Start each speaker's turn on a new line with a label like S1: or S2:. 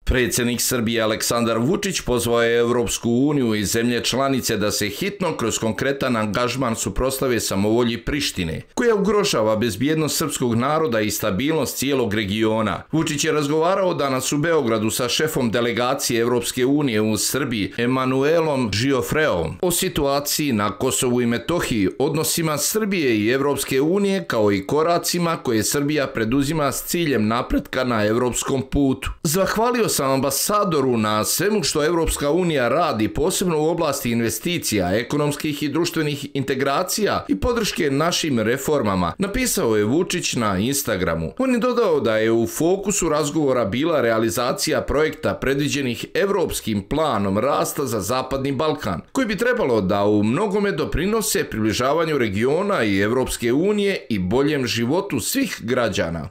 S1: Predsjednik Srbije Aleksandar Vučić pozvao je Europsku uniju i zemlje članice da se hitno kroz konkretan angažman suprotstave samovolji Prištine, koja ugrožava bezbjednost srpskog naroda i stabilnost cijelog regiona. Vučić je razgovarao danas u Beogradu sa šefom delegacije Europske unije u Srbiji, Emanuelom Žiofreom, o situaciji na Kosovu i Metohiji, odnosima Srbije i Europske unije, kao i koracima koje Srbija preduzima s ciljem napretka na europskom putu. Zahvalio sam ambasadoru na svemu što Europska unija radi, posebno u oblasti investicija, ekonomskih i društvenih integracija i podrške našim reformama, napisao je Vučić na Instagramu. On je dodao da je u fokusu razgovora bila realizacija projekta predviđenih Europskim planom rasta za Zapadni Balkan, koji bi trebalo da u mnogome doprinose približavanju regiona i Europske unije i boljem životu svih građana.